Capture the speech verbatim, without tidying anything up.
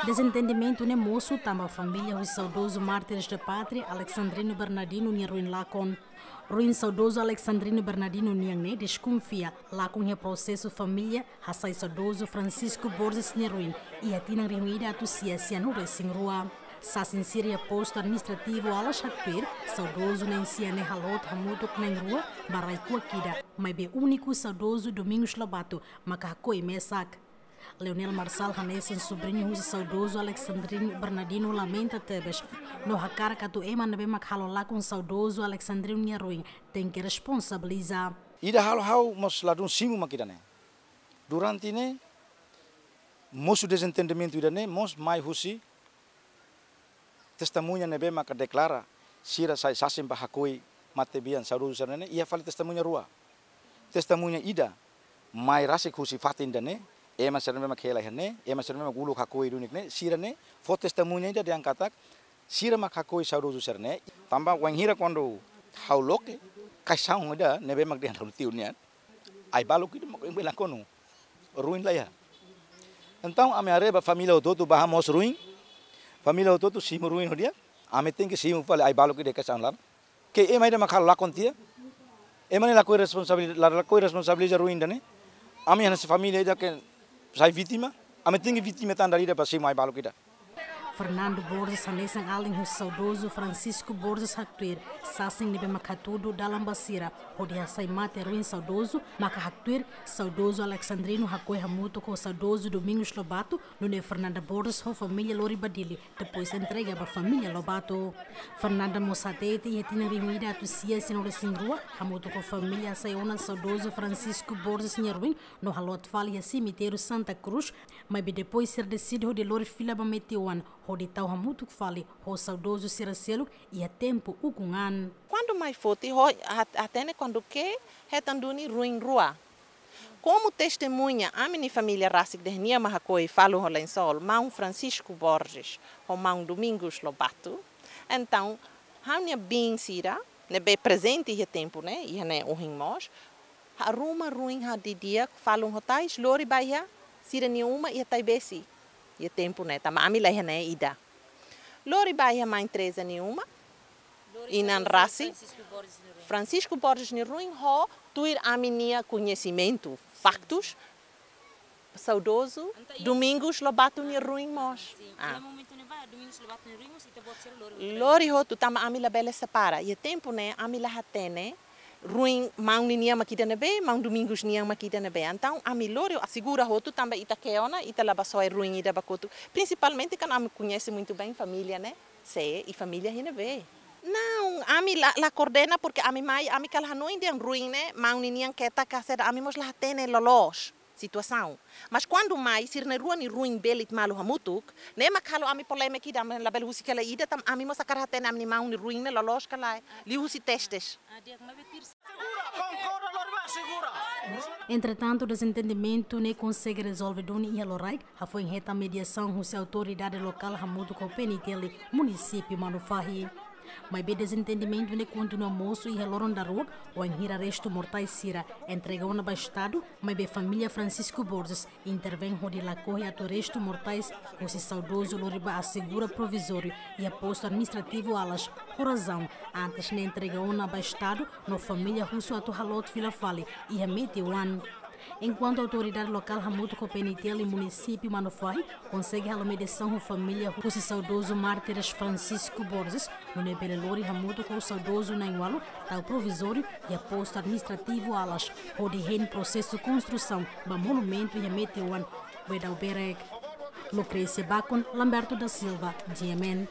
Dezentendimentu ne'e mosu tanba família husi saudozu mártires da pátria Alexandrino Bernardino nia ruin lakon. Ruin saudozu Alexandrino Bernardino nian ne'e deskonfia lakon iha prosesu família hasai saudozu Francisco Borges nia ruin iha tinan rihun ida atus sia sianulu resin rua. Sasin sira iha postu administrativu Alas haktuir, saudozu na'in-sia ne'e haloot hamutuk na'in-rua ba rai-kuak ida, maibé úniku saudozu Domingos Lobato maka hakoi mesak. Leonel Marçal hanesan subriñu husi saudozu Alexandrino Bernardino lamenta tebes no hakarak atu ema ne'ebé mak halo lakon saudozu Alexandrino nia ruin tenke responsabiliza. Ida halo ha'u mós ladún simu mak ida-ne'e. Durante ne'e mosu dezentendimentu ida-ne'e mós mai husi testemuña ne'ebé maka deklara sira sai sasin ba hakoi matebian saudozu sira-ne'e iha fali testemuña rua. Testemuña ida mai rasik husi fatin ida-ne'e, ema sira ne'ebé mak hela iha ne'e, ema sira ne'ebé mak uluk hakoi duni ne'e, sira-ne'e fó testemuña ida dehan katak sira mak hakoi saudozu sira-ne'e. Tanba wainhira kuandu ha'u loke kaixaun ida ne'ebé mak dehan ha'u-nia tiu nian, ai-baluk ida mak oin bele lakonu, ruin la iha. Entaun ami haree ba família hotu-hotu bá hamoos ruin, família hotu-hotu simu ruin ho di'ak, ami tenke simu fali ai-baluk ida kaixaun laran. Ke ema ida mak halo lakon tiha, ema ne'e lakohi responsabiliza, la lakohi responsabiliza ruin ida-ne'e. Ami hanesan família ida ke sai vítima, ami tenke vítima tan dala ida ba simu ai-baluk ida. Fernando Borges hanesan alin husi saudozu Francisco Borges haktuir, sasin ne'ebé mak hatudu dalan ba sira hodi hasai mate ruin saudozu maka haktuir saudozu Alexandrino hakoi hamutuk ho saudozu Domingos Lobato, nune'e Fernanda Borges ho família lori ba Dili, depois entrega ba família Lobato. Fernanda mós hatete iha tinan rihun ida atus sia sianulu resin rua, hamutuk ho família hasai ona saudozu Francisco Borges nia ruin no haloot fali iha semitériu Santa Cruz, maibé depois sira deside hodi lori fila ba meteoan hodi tau hamutuk fali ho saudozu sira seluk iha tempu ukun an. Kuandu mai foti ho hat-, hatene kuandu ke hetan duni ruin rua. Komu testemuña, ami-nia família rasik dehan nia mak hakoi falun ho lensol, maun Francisco Borges ho maun Domingos Lobato. Entaun, ha'u-nia biin sira ne'ebé prezente iha tempu ne'e, iha ne'e ohin mós, haruma ruin hadi'a di'ak, falun ho tais, lori ba iha sira-nia uma iha Taibesi. Iha tempu ne'e, tanba ami la iha ne'e ida. Lori ba iha main Teresa nia uma, inan rasik, Francisco Borges nia ruin ho tuir ami-nia koñesimentu, faktus, saudozu Domingos Lobato nia ruin mós. Ah. Lori hotu tanba ami labele separa. Iha tempu ne'e ami la hatene ruin maun ninian mak ida ne'ebé, maun Domingos nian mak ida ne'ebé. Entaun ami lori asegura hotu tanba ita ke ona, ita la bá soe ruin ida ba kotuk. Prinsipalmente kan ami koñese muito bem família, né? Sé, i família iha ne'ebé. Não, ami la, la koordena porque ami mai, ami kala hanoin dehan ruin ne'e maun ninian ketak ka saida, ami mós la hatene loloos situasaun. Mas kuandu mai, sira na'in-rua nia ruin belit malu hamutuk, ne'e mak halo ami polémika ida, ami labele husik hela ida, tanba ami mós hakarak hatene ami-nia maun nia ruin ne'e loloos ka lae, liuhusi testes. Entretantu, dezentendimentu ne'e konsege rezolve duni iha loraik, hafoin hetan mediasaun husi autoridade lokál hamutuk ho P N T L munisípiu Manufahi. Maibé dezentendimentu ne'e kontinua mosu iha loron daruak, wainhira restu mortais sira entrega ona ba Estadu, maibé família Francisco Borges intervein hodi lakohi atu restu mortais husi saudozu lori ba asegura provizóriu iha postu administrativu Alas, ho razaun antes ne'e entrega ona ba Estadu, no família husu atu haloot fila fali iha meteoan. Enkuantu autoridade lokál hamutuk ho P N T L munisípiu Manufahi konsege halo mediasaun ho família husi saudozu mártires Francisco Borges, nune'e bele lori hamutuk ho saudozu na'in-ualu tau provizóriu iha postu administrativu Alas, hodi hein prosesu konstrusaun ba monumentu iha meteoan Bedau Berek. Lucrécia Bacon, Lamberto da Silva, G M N.